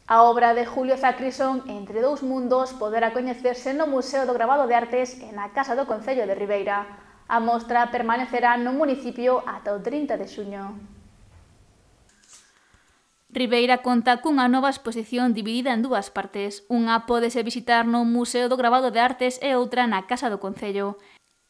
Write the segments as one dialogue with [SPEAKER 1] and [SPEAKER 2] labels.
[SPEAKER 1] A obra de Julio Zacrison, Entre dous mundos, poderá coñecerse no Museo do Gravado de Artes e na Casa do Concello de Ribeira. A mostra permanecerá no municipio ata o 30 de xuño. Ribeira conta cunha nova exposición dividida en dúas partes. Unha pódese visitar no Museo do Gravado de Artes e outra na Casa do Concello.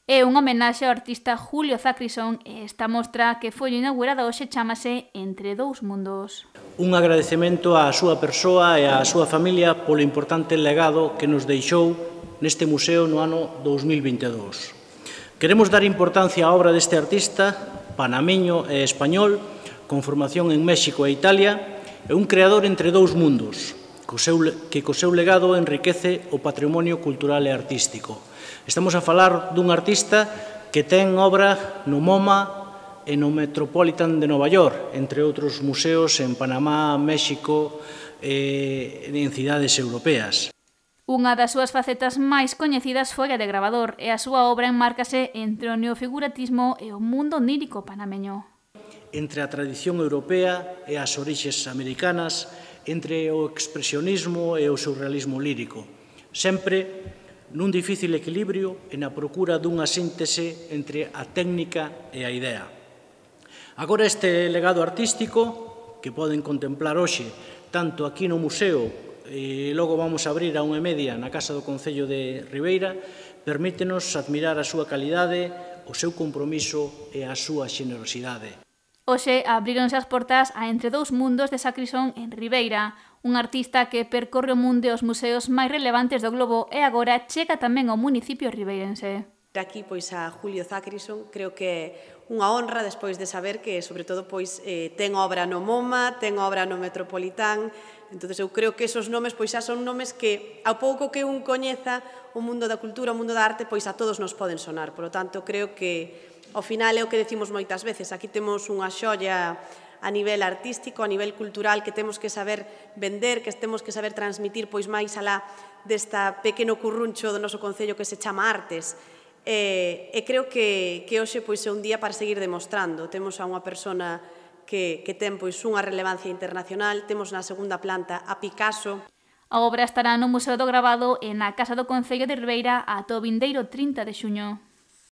[SPEAKER 1] É unha homenaxe ao artista Julio Zacrison e esta mostra que foi inaugurada hoxe chámase Entre dous mundos.
[SPEAKER 2] Un agradecemento á súa persoa e á súa familia polo importante legado que nos deixou neste museo no ano 2022. Queremos dar importancia á obra deste artista, panameño e español, con formación en México e Italia, e un creador entre dous mundos, que co seu legado enriquece o patrimonio cultural e artístico. Estamos a falar dun artista que ten obra no MoMA e no Metropolitan de Nova York, entre outros museos en Panamá, México e en cidades europeas.
[SPEAKER 1] Unha das súas facetas máis coñecidas foi a de gravador e a súa obra enmárcase entre o neofiguratismo e o mundo onírico panameño.
[SPEAKER 2] Entre a tradición europea e as orixes americanas, entre o expresionismo e o surrealismo lírico, sempre nun difícil equilibrio e na procura dunha síntese entre a técnica e a idea. Agora este legado artístico, que poden contemplar hoxe, tanto aquí no museo e logo vamos a abrir a 1:30 na Casa do Concello de Ribeira, permítenos admirar a súa calidade, o seu compromiso e a súa xenerosidade.
[SPEAKER 1] Hoxe abríronse as portas a Entre dous mundos de Zacrison en Ribeira, un artista que percorre o mundo e os museos máis relevantes do globo e agora chega tamén ao municipio ribeirense.
[SPEAKER 3] Aquí pois a Julio Zacrison creo que é unha honra despois de saber que sobre todo pois ten obra no MoMA, ten obra no Metropolitan. Entonces eu creo que esos nomes pois xa son nomes que ao pouco que un coñeza o mundo da cultura, o mundo da arte, pois a todos nos poden sonar. Por lo tanto, creo que ao final é o que decimos moitas veces, aquí temos unha xoia a nivel artístico, a nivel cultural que temos que saber vender, que temos que saber transmitir pois máis alá desta pequeno curruncho do noso concello que se chama Artes. E creo que hoxe pois é un día para seguir demostrando. Temos a unha persona que ten pois unha relevancia internacional, temos na segunda planta a Picasso.
[SPEAKER 1] A obra estará no Museo do Gravado e na Casa do Concello de Ribeira ata o vindeiro 30 de xuño.